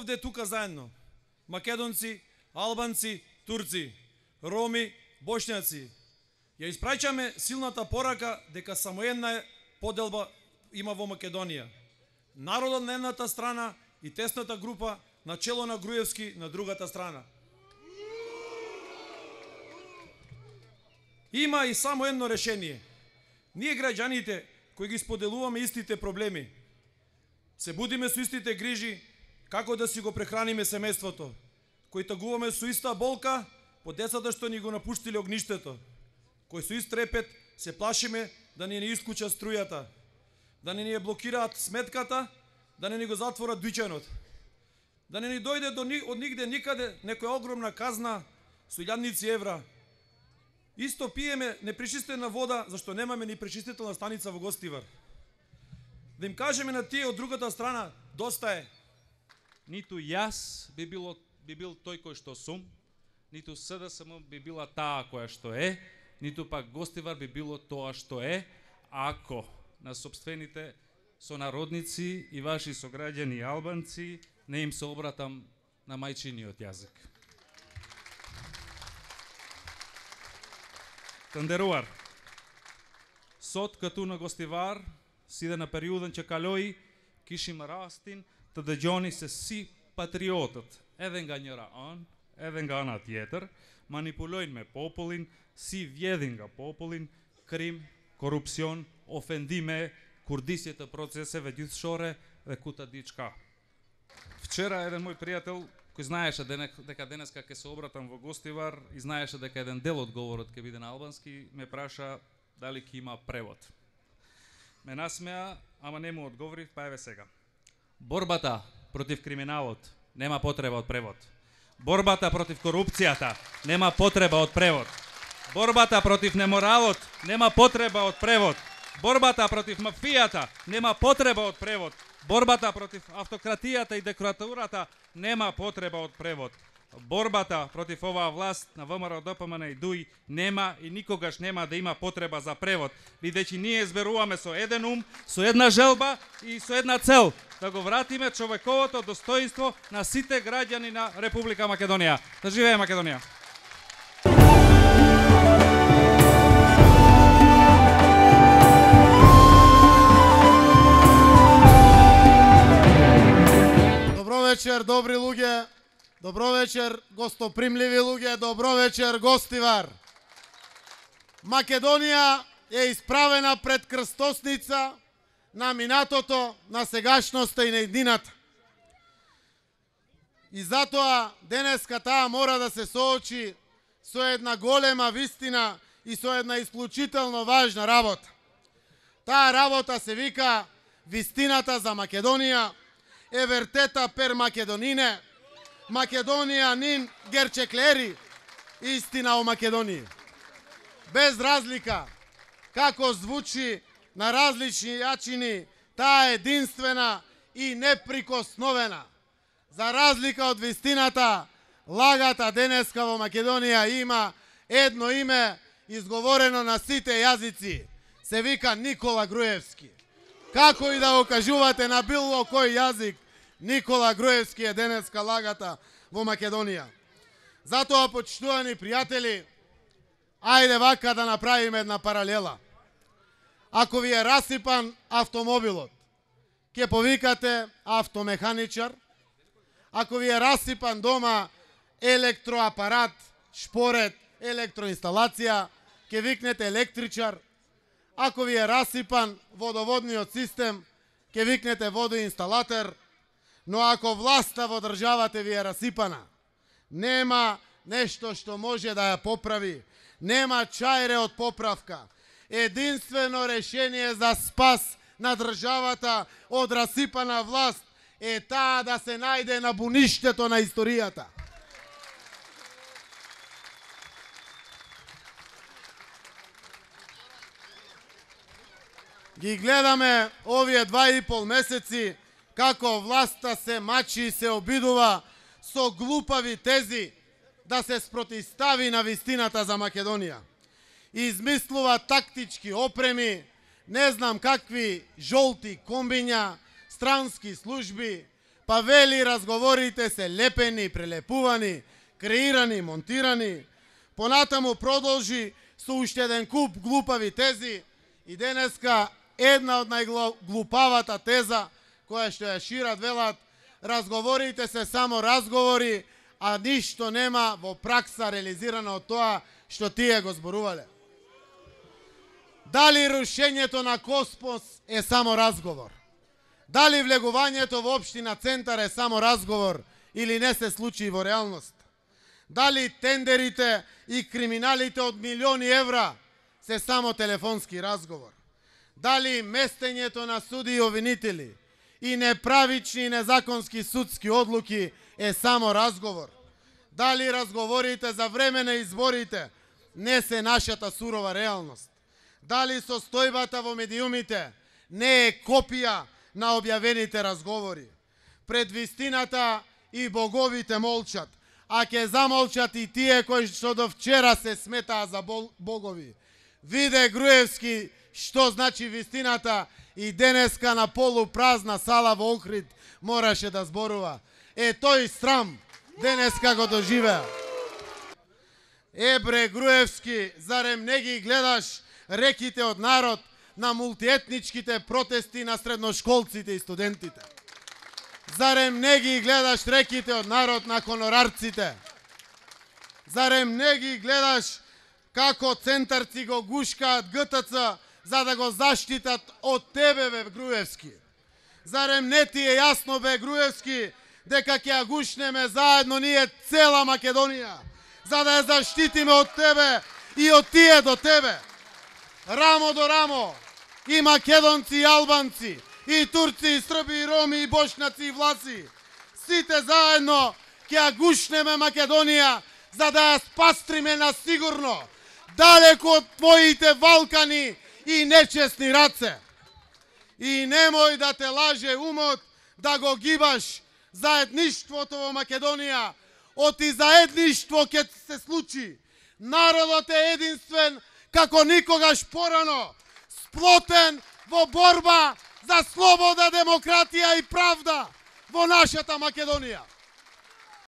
овде тука заедно. Македонци, албанци, турци, роми, бошњаци. Ја испраќаме силната порака дека само една поделба има во Македонија. Народот на едната страна и тесната група на чело на Груевски на другата страна. Има и само едно решение. Ние граѓаните кои ги споделуваме истите проблеми, се будиме со истите грижи како да си го прехраниме семејството, кои тагуваме со иста болка по децата што ни го напуштиле огништето, кои со ист трепет се плашиме да не ни исклучат струјата, да не ни ја блокираат сметката, да не ни го затворат дуќанот, да не ни дојде од нигде никаде некоја огромна казна со илјадници евра. Исто пиеме непречистена вода, зашто немаме ни пречистителна станица во Гостивар. Да им кажеме на тие од другата страна, доста е. Ниту јас би бил тој кој што сум, ниту СДСМ би била таа која што е, ниту пак Гостивар би било тоа што е, ако на сопствените сонародници и ваши сограѓани албанци не им се обратам на мајчиниот јазик. Тандеруар. Сот кату на Гостивар, сиде на периоден че калои, кишима растин, таде ѓони се си патриотот. Еден га njëra an, еден га ana tjetër, manipulojnë me popullin, si vjedhin nga popullin, krim, korupcion, ofendime, курдисје të процесeve gjithëshore dhe ku ta di çka. Вчера еден мој пријател кој знаеше дека денеска ќе се обратам во Гостивар и знаеше дека еден дел од говорот ќе биде на албански, ме праша дали ќе има превод. Ме насмеа, ама не му одговорив, па еве сега. Борбата против криминалот нема потреба од превод. Борбата против корупцијата нема потреба од превод. Борбата против неморалот нема потреба од превод. Борбата против мафијата нема потреба од превод. Борбата против автократијата и диктатурата нема потреба од превод. Борбата против оваа власт на ВМРО, ДПМН и ДУИ нема и никогаш нема да има потреба за превод, бидејќи ние зберуваме со еден ум, со една желба и со една цел, да го вратиме човековото достоинство на сите граѓани на Република Македонија. Да живее Македонија! Добро вечер, добри луѓе. Добро вечер, гостопримливи луѓе. Добро вечер, Гостивар. Македонија е исправена пред крстосница на минатото, на сегашноста и на иднината. И затоа денеска таа мора да се соочи со една голема вистина и со една исклучително важна работа. Таа работа се вика вистината за Македонија, евертета пер Македонине, Македонија нин герчеклери, истина о Македонија. Без разлика како звучи на различни јачини, таа е единствена и неприкосновена. За разлика од вистината, лагата денеска во Македонија има едно име изговорено на сите јазици. Се вика Никола Груевски. Како и да го кажувате на било кој јазик, Никола Груевски е денеска лагата во Македонија. Затоа, почитувани пријатели, ајде вака да направиме една паралела. Ако ви е расипан автомобилот, ќе повикате автомеханичар. Ако ви е расипан дома електроапарат, шпорет, електроинсталација, ќе викнете електричар. Ако ви е расипан водоводниот систем, ќе викнете водоинсталатер. Но ако власта во државата ви е расипана, нема нешто што може да ја поправи, нема чајре од поправка. Единствено решение за спас на државата од расипана власт е таа да се најде на буништето на историјата. Ги гледаме овие 2,5 месеци како власта се мачи и се обидува со глупави тези да се спротистави на вистината за Македонија. Измислува тактички опреми, не знам какви жолти комбиња, странски служби, па вели разговорите се лепени, прелепувани, креирани, монтирани. Понатаму продолжи со уште еден куп глупави тези и денеска една од најглупавата теза која што ја шират, велат разговорите се само разговори, а ништо нема во пракса реализирано од тоа што тие го зборувале. Дали рушењето на Коспос е само разговор? Дали влегувањето во општина Центар е само разговор или не се случи во реалност? Дали тендерите и криминалите од милиони евра се само телефонски разговор? Дали местењето на суди и обвинители и неправични и незаконски судски одлуки е само разговор? Дали разговорите за време на изборите не се нашата сурова реалност? Дали состојбата во медиумите не е копија на објавените разговори? Пред вистината и боговите молчат, а ќе замолчат и тие кои што до вчера се сметаа за богови. Виде Груевски што значи вистината и денеска на полупразна сала во Охрид мораше да зборува. Тој срам денеска го доживеа. Бре Груевски, зарем не ги гледаш реките од народ на мултиетничките протести на средношколците и студентите? Зарем не ги гледаш реките од народ на конорарците? Зарем не ги гледаш како центарци го гушкаат ГТЦ за да го заштитат од тебе, бе Груевски? Зарем не ти е јасно, бе Груевски, дека ќе ја гушнеме заедно ние цела Македонија, за да ја заштитиме од тебе и од тие до тебе? Рамо до рамо, и македонци, и албанци, и турци, и срби, и роми, и бошнаци, и влаци. Сите заедно ќе ја гушнеме Македонија, за да ја спастриме на сигурно, далеко од твоите валкани и нечестни раце. И немој да те лаже умот да го гибаш заедништвото во Македонија. Оти заедништво ќе се случи. Народот е единствен како никогаш порано, сплотен во борба за слобода, демократија и правда во нашата Македонија.